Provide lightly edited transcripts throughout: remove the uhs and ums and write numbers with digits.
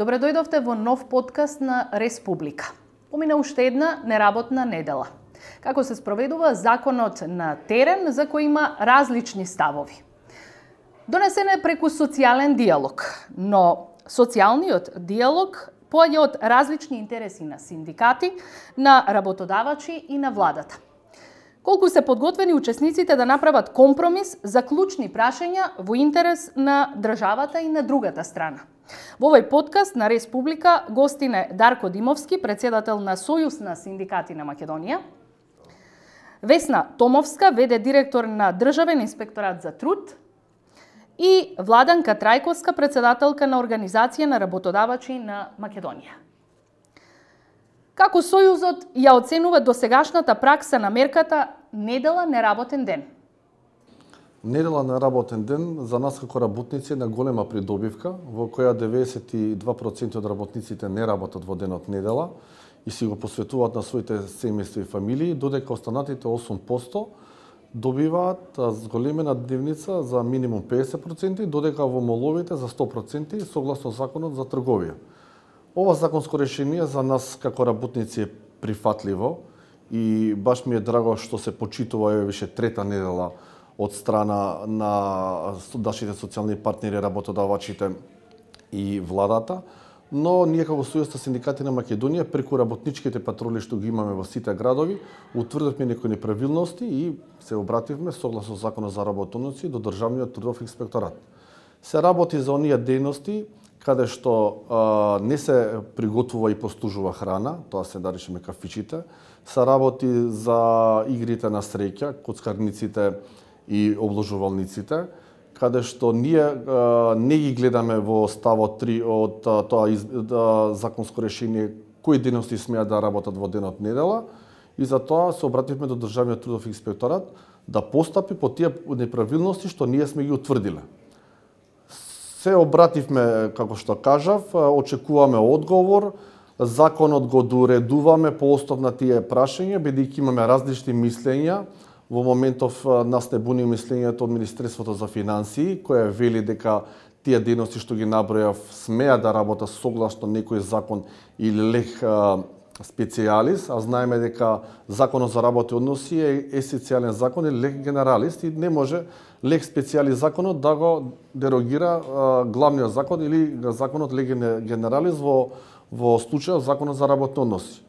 Добре дојдовте во нов подкаст на Республика. Помина уште една неработна недела. Како се спроведува законот на терен за кој има различни ставови. Донесен е преку социјален диалог, но социјалниот диалог поаѓа од различни интереси на синдикати, на работодавачи и на владата. Колку се подготвени учесниците да направат компромис за клучни прашања во интерес на државата и на другата страна. Во овој подкаст на Республика гостине Дарко Димовски, председател на Сојуз на синдикати на Македонија, Весна Томовска, ВД директор на Државен инспекторат за труд, и Владанка Трајковска, председателка на Организација на работодавачи на Македонија. Како Сојузот ја оценува досегашната пракса на мерката недела неработен ден? Недела неработен ден за нас како работници е на голема придобивка, во која 92% од работниците не работат во денот недела и си го посветуваат на своите семејства и фамилии, додека останатите 8% добиваат зголемена дневница за минимум 50%, додека во моловите за 100% согласно законот за трговија. Ова законско решение за нас како работници е прифатливо и баш ми е драго што се почитува више трета недела од страна на нашите социјални партнери, работодавачите и владата, но ние како Сојуз на синдикати на Македонија преку работничките патроли што ги имаме во сите градови, утврдивме некои неправилности и се обративме согласно законот за работоноци до Државниот трудов инспекторат. Се работи за оние дејности каде што не се приготвува и послужува храна, тоа се наречеме кафичите, се работи за игрите на среќа, коцкарниците и обложувалниците, каде што ние не ги гледаме во ставот 3 од тоа законско решение кои дејности смеат да работат во денот недела и затоа се обративме до Државниот трудов инспекторат да постапи по тие неправилности што ние сме ги утврдиле. Се обративме, како што кажав, очекуваме одговор, законот го доуредуваме по основ на тие прашања, бидејќи имаме различни мислења. Во моментов нас не буни мислењето од Министерството за финансии, која вели дека тие дејности што ги набројав смеа да работат согласно некој закон или лег специјалис, а знаеме дека законот за работни односи е есенцијален закон или лег генералис и не може лег специјалис законот да го дерогира главниот закон или законот лег генералис во случајот законот за работни односи.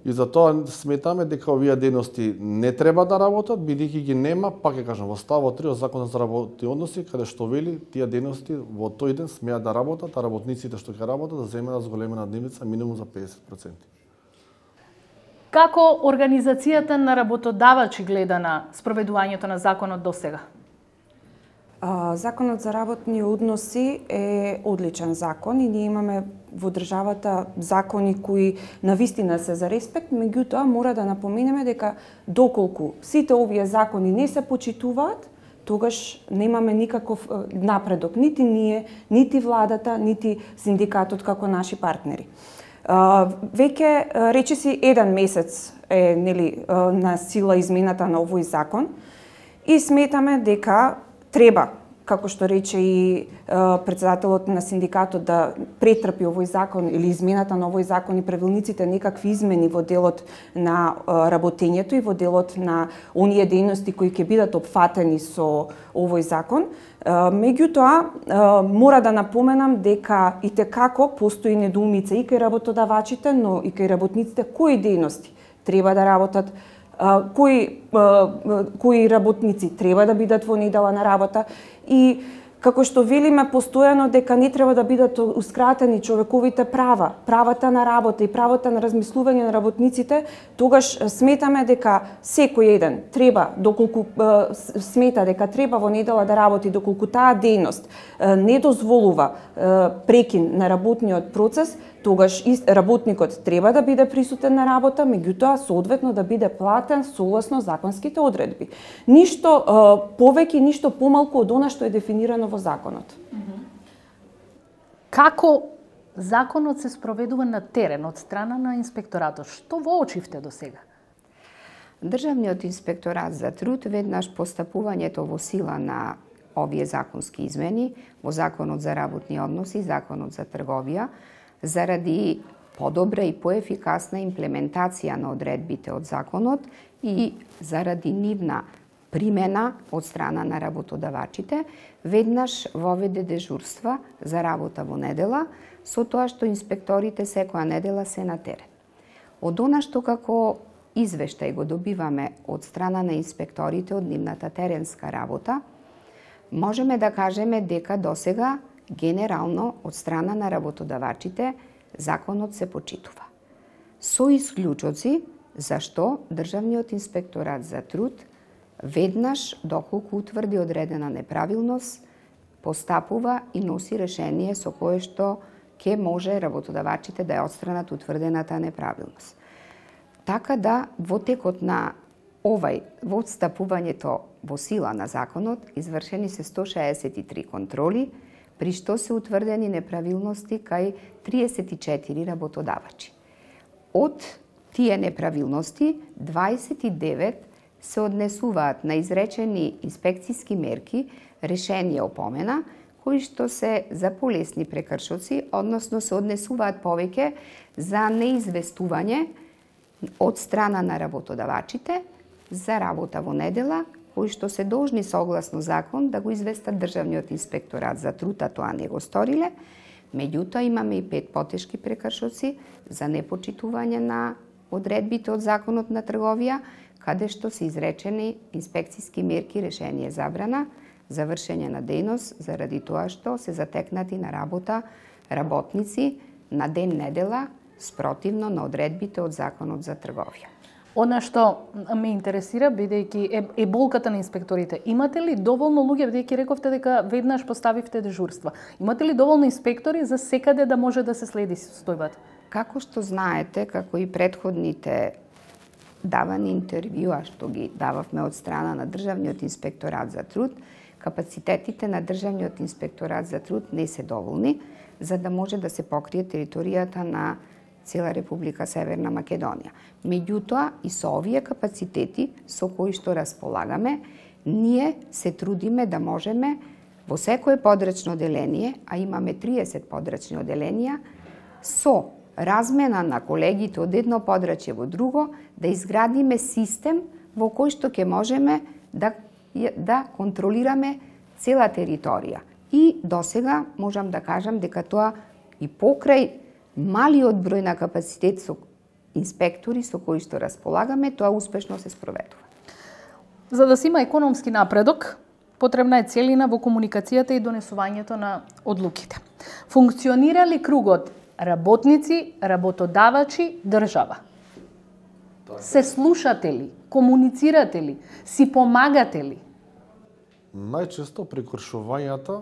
И затоа сметаме дека овие дејности не треба да работат, бидејќи ги нема, пак ќе кажам, во ставот 3 од законот за работни односи, каде што вели тие дејности во тој ден смеат да работат, а работниците што ќе работат да земат зголемена дневница минимум за 50%. Како Организацијата на работодавачи гледа на спроведувањето на законот досега? Законот за работни односи е одличен закон и ние имаме во државата закони кои навистина се за респект, меѓутоа мора да напоменеме дека доколку сите овие закони не се почитуваат, тогаш немаме никаков напредок, нити ние, нити владата, нити синдикатот како наши партнери. Веќе речиси 1 месец е на сила измената на овој закон и сметаме дека треба, како што рече и председателот на синдикатот, да претрпи овој закон или измената на овој закон и правилниците некакви измени во делот на работењето и во делот на оние дејности кои ќе бидат опфатени со овој закон. Меѓутоа, мора да напоменам дека итекако постои недоумица и кај работодавачите, но и кај работниците кои дејности треба да работат, кои работници треба да бидат во недела на работа и како што велиме постојано дека не треба да бидатускратени човековите права, правата на работа и правата на размислување на работниците, тогаш сметаме дека секој еден треба, доколку смета дека треба во недела да работи, доколку таа дејност не дозволува прекин на работниот процес, тогаш работникот треба да биде присутен на работа, меѓутоа соодветно да биде платен согласно законските одредби. Ништо повеќе, ништо помалку од она што е дефинирано во законот. Како законот се спроведува на терен од страна на инспекторатот? Што воочивте до сега? Државниот инспекторат за труд веднаш постапувањето во сила на овие законски измени во Законот за работни односи и Законот за трговија заради подобра и поефикасна имплементација на одредбите од законот и заради нивна примена од страна на работодавачите, веднаш воведе дежурства за работа во недела, со тоа што инспекторите секоја недела се на терен. Од она што како извештај го добиваме од страна на инспекторите од нивната теренска работа, можеме да кажеме дека досега генерално од страна на работодавачите законот се почитува. Со исклучоци зашто Државниот инспекторат за труд веднаш доколку утврди одредена неправилност, постапува и носи решение со кое што ќе може работодавачите да ја отстранат утврдената неправилност. Така да во текот на во отстапувањето во сила на законот извршени се 163 контроли, при што се утврдени неправилности кај 34 работодавачи. Од тие неправилности 29 се однесуваат на изречени инспекцијски мерки, решение опомена, кои што се за полесни прекршоци, односно се однесуваат повеќе за неизвестување од страна на работодавачите за работа во недела, кои што се должни согласно закон да го известат Државниот инспекторат за труд, а тоа не го сториле. Меѓутоа имаме и 5 потешки прекршоци за непочитување на одредбите од законот на трговија, каде што се изречени инспекцијски мерки, решение забрана за вршење на дејност заради тоа што се затекнати на работа работници на ден недела спротивно на одредбите од законот за трговија. Она што ме интересира, бидејќи е болката на инспекторите, имате ли доволно луѓе, бидејќи рековте дека веднаш поставивте дежурства, имате ли доволно инспектори за секаде да може да се следи состојбата? Како што знаете, како и претходните давани интервјуа што ги дававме од страна на Државниот инспекторат за труд, капацитетите на Државниот инспекторат за труд не се доволни за да може да се покрие територијата на цела Република Северна Македонија. Меѓутоа, и со овие капацитети со кои што располагаме, ние се трудиме да можеме во секое подрачно оделение, а имаме 30 подрачни оделенија, со размена на колегите од едно подрачје во друго, да изградиме систем во кој што ќе можеме да контролираме цела територија. И досега можам да кажам дека тоа и покрај малиот број на капацитет со инспектори со кои што располагаме, тоа успешно се спроведува. За да се има економски напредок, потребна е целина во комуникацијата и донесувањето на одлуките. Функционира ли кругот работници, работодавачи, држава? Се слушате ли? Комуницирате ли? Си помагате ли? Најчесто прекршувањата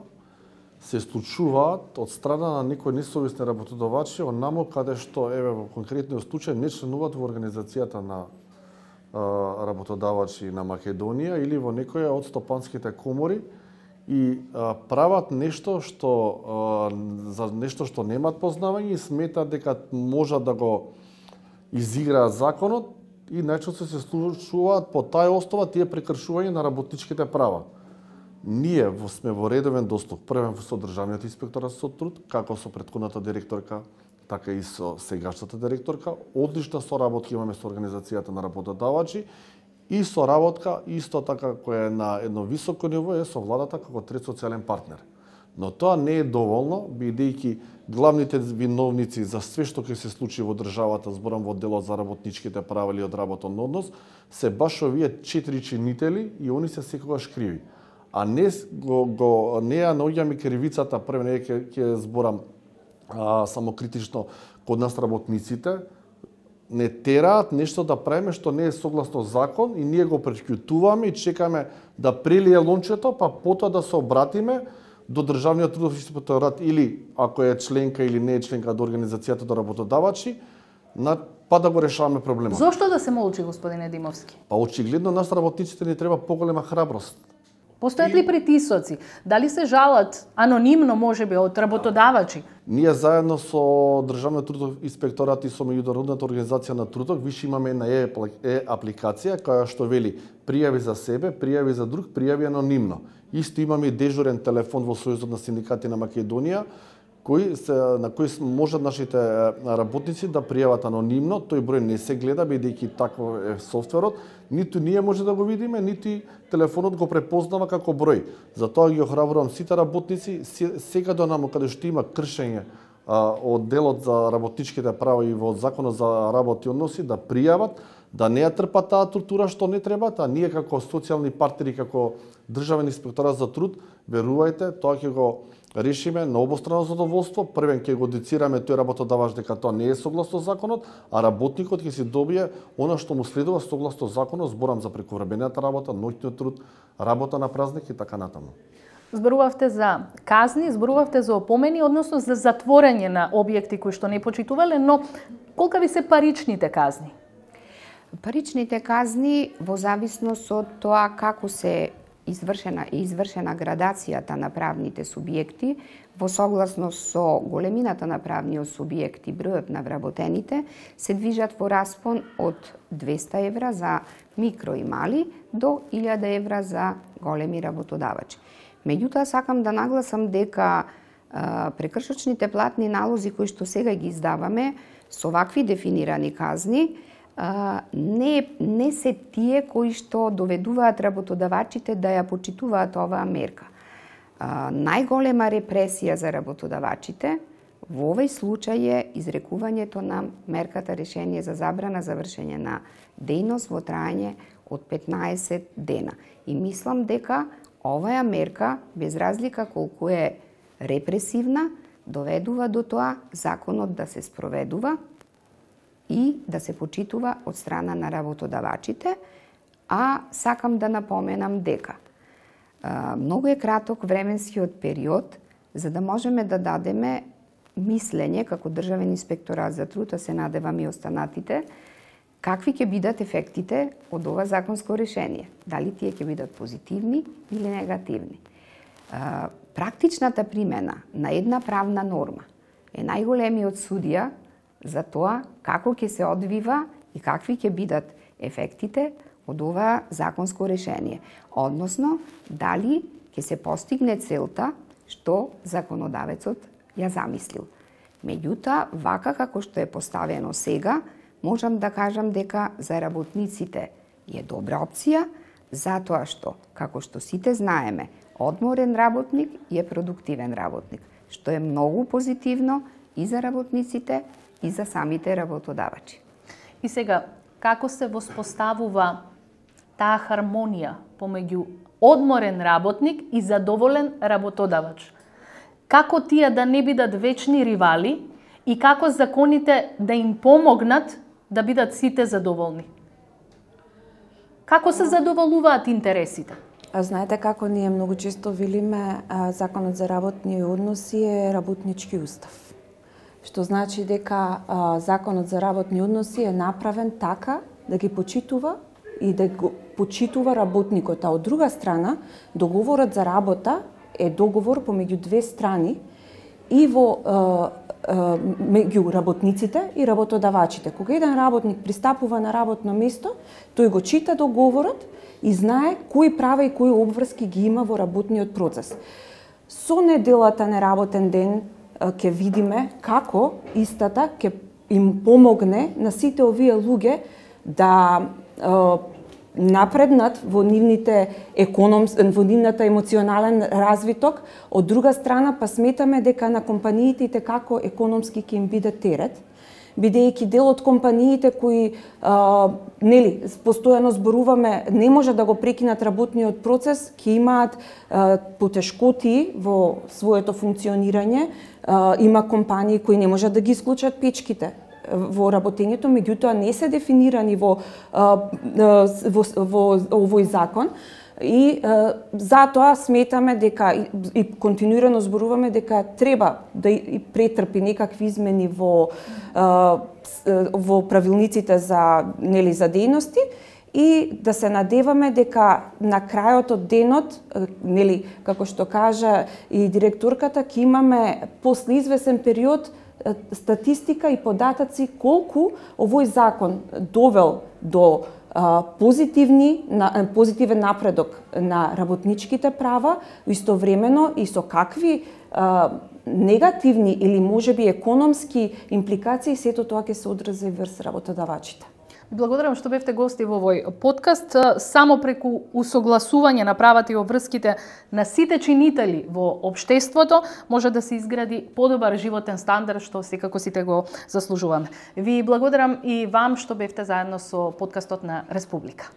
се случуваат од страна на некои несовесни работодавачи, онамо каде што, во конкретниот случај, не членуваат во организацијата на работодавачи на Македонија или во некоја од стопанските комори и прават нешто што за нешто што немаат познавање и сметаат дека можат да го изиграат законот и најчесто се случуваат по таа основа тие прекршувања на работничките права. Ние сме во редовен достап, првен со Државниот инспекторат со труд, како со претходната директорка, така и со сегашната директорка. Одлична соработка имаме со организацијата на работодавачи и соработка исто така која е на едно високо ниво е со владата како трет социјален партнер. Но тоа не е доволно, бидејќи главните виновници за све што ќе се случи во државата, зборам во делот за работничките права или од работен однос, се баш овие 4 чинители и они се секогаш криви. А не ја наоѓаме кривицата, прво не ќе зборам самокритично код нас работниците, не тераат нешто да правиме што не е согласно закон и ние го пречкутуваме и чекаме да прелие лончето, па потоа да се обратиме до Државниот трудов инспекторат или ако е членка или не е членка до организацијата до работодавачи, па да го решаваме проблемот. Зошто да се молчи, господине Димовски? Па очигледно нас работниците ни треба поголема храброст. Постојат ли притисоци? Дали се жалат анонимно, можеби, од работодавачи? Ние заедно со Државниот трудов инспекторат и со Меѓународната организација на трудот више имаме една апликација која што вели пријави за себе, пријави за друг, пријави анонимно. Исто имаме и дежурен телефон во Сојузот на синдикати на Македонија на кои можат нашите работници да пријават анонимно. Тој број не се гледа, бидејќи такво е софтверот. Ниту ние може да го видиме, нити телефонот го препознава како број. Затоа ги охрабрувам сите работници, сега до намо каде што има кршење од делот за работничките права и во Законот за работни односи, да пријават, да не ја трпат таа тортура што не треба, а ние како социјални партнери, како Државен инспекторат за труд, верувајте, тоа ќе го решиме на обострано задоволство. Првен ќе го децираме тој работодавач дека тоа не е согласно законот, а работникот ќе си добие она што му следува согласно законот, зборам за прековремената работа, ноќниот труд, работа на празник и така натаму. Зборувавте за казни, зборувавте за опомени, односно за затворање на објекти кои што не почитувале, но колка ви се паричните казни? Паричните казни во зависност од тоа како се извршена градацијата на правните субјекти, во согласност со големината на правниот субјект и бројот на вработените, се движат во распон од 200 евра за микро и мали до 1000 евра за големи работодавачи. Меѓутоа, сакам да нагласам дека прекршочните платни налози кои што сега ги издаваме со вакви дефинирани казни, не се тие кои што доведуваат работодавачите да ја почитуваат оваа мерка. Најголема репресија за работодавачите во овој случај е изрекувањето на мерката решение за забрана за вршење на дејност во трајање од 15 дена. И мислам дека оваа мерка, без разлика колку е репресивна, доведува до тоа законот да се спроведува и да се почитува од страна на работодавачите, а сакам да напоменам дека многу е краток временскиот период за да можеме да дадеме мислење како Државен инспекторат за труд, а се надевам и останатите, какви ќе бидат ефектите од ова законско решение. Дали тие ќе бидат позитивни или негативни. Практичната примена на една правна норма е најголемиот судија за тоа како ќе се одвива и какви ќе бидат ефектите од ова законско решение. Односно, дали ќе се постигне целта што законодавецот ја замислил. Меѓутоа, вака како што е поставено сега, можам да кажам дека за работниците е добра опција, затоа што, како што сите знаеме, одморен работник е продуктивен работник, што е многу позитивно и за работниците, и за самите работодавачи. И сега, како се воспоставува таа хармонија помеѓу одморен работник и задоволен работодавач? Како тие да не бидат вечни ривали и како законите да им помогнат да бидат сите задоволни? Како се задоволуваат интересите? Знаете како ние многу често велиме, Законот за работни односи е работнички устав. Што значи дека Законот за работни односи е направен така да ги почитува и да го почитува работникот, а од друга страна договорот за работа е договор помеѓу две страни и меѓу работниците и работодавачите. Кога еден работник пристапува на работно место, тој го чита договорот и знае кои права и кои обврски ги има во работниот процес. Со неделата неработен ден ќе видиме како истата ќе им помогне на сите овие луѓе да напреднат во нивната емоционален развиток. Од друга страна, па сметаме дека на компаниите како економски ќе им биде терет, бидејќи дел од компаниите кои постојано зборуваме не може да го прекинат работниот процес, ќе имаат потешкоти во своето функционирање. Има компании кои не можат да ги исклучат печките во работењето, меѓутоа не се дефинирани во овој закон. И затоа сметаме дека и континуирано зборуваме дека треба да и претрпи некакви измени во правилниците за дејности и да се надеваме дека на крајот од денот, како што кажа и директорката, ќе имаме после извесен период статистика и податоци колку овој закон довел до позитивен напредок на работничките права, истовремено и со какви негативни или можеби економски импликации, сето тоа ќе се одрази врз работодавачите. Благодарам што бевте гости во овој подкаст. Само преку усогласување на правата и обврските на сите чинители во општеството може да се изгради подобар животен стандард, што секако сите го заслужуваме. Ви благодарам и вам што бевте заедно со подкастот на Республика.